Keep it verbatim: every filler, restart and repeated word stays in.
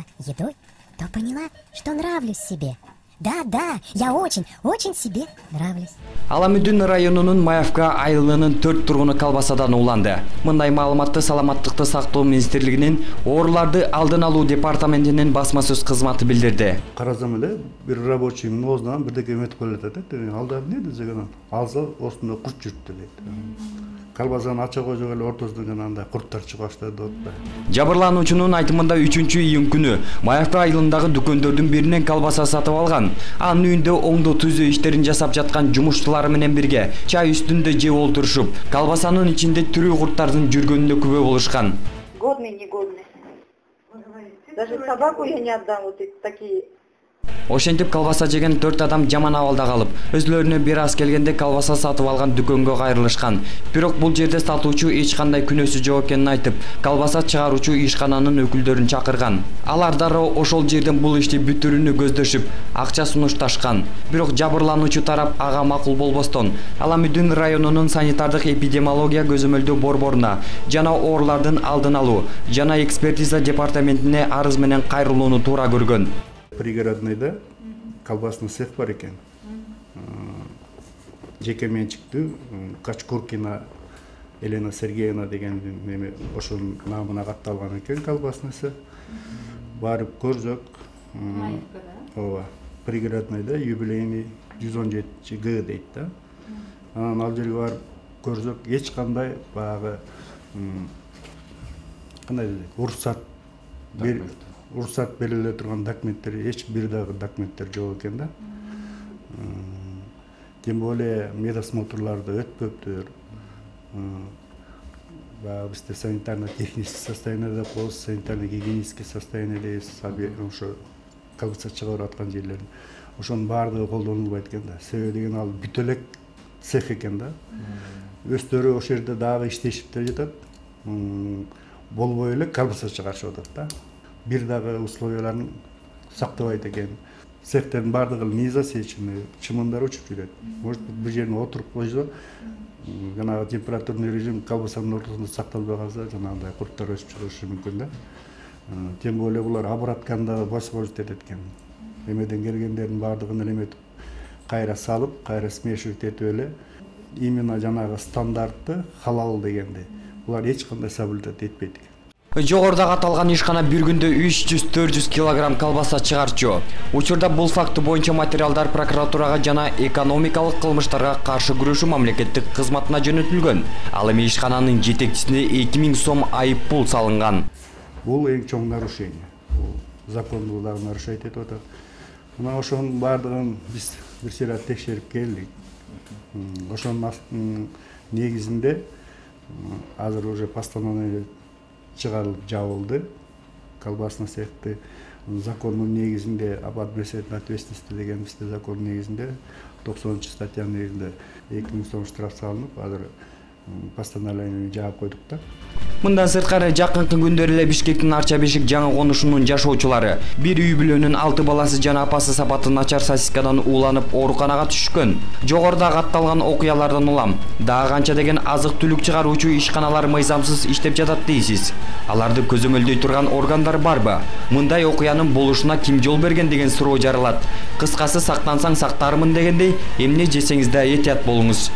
заниматься едой, то поняла, что нравлюсь себе. Да, да, я очень, очень себе нравлюсь. Аламүдүн районунун Маевка айылынын төрт тургуну колбасадан ууланды. Мындай маалыматты Саламаттыкты сактоо министрлигинин ооруларды алдын алуу департаментинин басма сөз кызматы билдирди. Карасам эле бир рабочий оозунан бирдеке өтүп келатат. Алда эмне десем, алса осунда курт жүрүптү дейт. Колбасаны ача койсок эле ортосунан андай курттар чыга баштады дейт. Жабырлануучунун айтымында үчүнчү июнь күнү Маевка айылындагы дүкөндөрдүн биринен колбаса сатып алган. Анын үйүндө оңдоо түзөө иштерин жасап жаткан жумушчулары менен бирге чай үстүндө жеп олтурушуп, колбасанын ичинде тирүү курттардын жүргөнүнө күбө болушкан. Годный, негодный. Даже собаку я не отдам, вот такие. Ошентип колбаса жеген төрт адам жаман абалда калып, өзлөрүнө бир аз келгенде колбаса сатып алган дүкөнгө кайрылышкан. Бирок бул жерде сатуучу эч кандай күнөөсү жок экенин айтып, колбаса чыгаруучу ишкананын өкүлдөрүн чакырган. Алар дароо ошол жерден бул ишти бүтүрүүнү көздөшүп, акча сунушташкан. Бирок жабырлануучу тарап ага макул болбостон, Аламүдүн районунун санитардык эпидемиология көзөмөлдөө борборуна жана оорулардын алдын алуу жана экспертиза департаментине арыз менен кайрылууну туура көргөн. Пригородныйда колбасный цех бар экен. Жеке менчиктүү Качкуркина Елена Сергеевна деген неме ошонун намына катталган экен колбасный цех. Барып көрсөк, ооба, пригородныйда юбилейный жүз он жетинчи Г дейт да. Анан ал жерге барып көрсөк, эч кандай баягы кандай дейт, уруксат бер уруксат бериле турган документтер, эч бир дагы документтер жок экен да. Тем более медосмотрларды өтпөптүр. Баягы бизде санитарно-технический состояние деп коебуз, санитарно-гигиенический состояние дейбиз, ошо колбаса чыгарып аткан жерлердин. Ошонун баардыгы колдонулбайт экен да. Себеби деген ал бүт элек цех экен да. Өздөрү ошол жерде дагы иштешип деле жатат. Болбой эле колбаса чыгарышып атат да. Бир дагы условияларын сактабайт экен. Цехтердин баардыгы незасеченный, чымындар учуп жүрөт. Может быть, бир жерине отуруп койсо, жанагы температурный режим колбасанын ортосунда сакталбай калса, жанагындай курттар өсүп чыгышы мүмкүн да. Тем более булар обратканы дагы басып этет экен. Эмеден келгендердин баардыгын эметип, кайра салып, кайра смешивать этип эле именно жанагы стандартты халал дегенди. Булар эч кандай соблюдать этпейт экен. Жогоруда аталган ишкана бир күндө үч жүз төрт жүз килограмм колбаса чыгарчу. Учурда бул факты боюнча материалдар прокуратурага жана экономикалык кылмыштарга каршы күрөшүү мамлекеттик кызматына жөнөтүлгөн. Ал эми ишкананын жетекчисине эки миң сом айып пул салынган. Бул эң чоң нарушение. Бул законду дагы нарушать этип атат. Мына ошонун баардыгын биз бир сыйра текшерип келдик. Ошонун негизинде азыр уже постановление чыгарылып жабылды. Колбасный цехти закондун негизинде об административной ответственности деген бизде закон негизинде токсонунчу статьянын негизинде эки миң сом штраф салынып, азыр постановление жаап койдук да. Мындан сырткары жакынкы күндөрү эле Бишкектин Арча Бешик жаңы конушунун жашоочулары бир үй бүлөнүн алты баласы жана апасы сапаты начар сосискадан ууланып ооруканага түшкөн. Жогоруда катталган окуялардан улам дагы канча деген азык-түлүк чыгаруучу ишканалар мыйзамсыз иштеп жатат дейсиз. Аларды көзөмөлдөй турган органдар барбы? Мындай окуянын болушуна ким жол берген деген суроо жаралат. Кыскасы, сактансаң сактармын дегендей, эмне жесеңиз да этият болуңуз.